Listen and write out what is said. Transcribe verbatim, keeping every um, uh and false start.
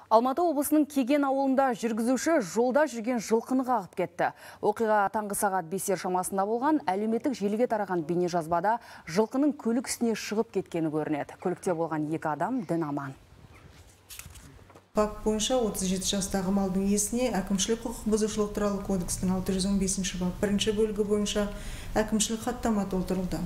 Алматы облысының Кеген ауылында жүргізуші жолда жүрген жылқыны қағып кетті. Оқиға таңғы сағат бестер шамасында болған. Әлеуметтік желіге тараған бейнежазбада жылқының көлік үстіне шығып кеткені көрінеді. Көлікте болған екі адам дін аман. Факт бойынша отыз жеті жастағы малдың иесіне әкімшілік құқық бұзушылық туралы кодекстің алты жүз он бесінші бап бірінші бөлігі бойынша әкімшілік хаттама толтырылды.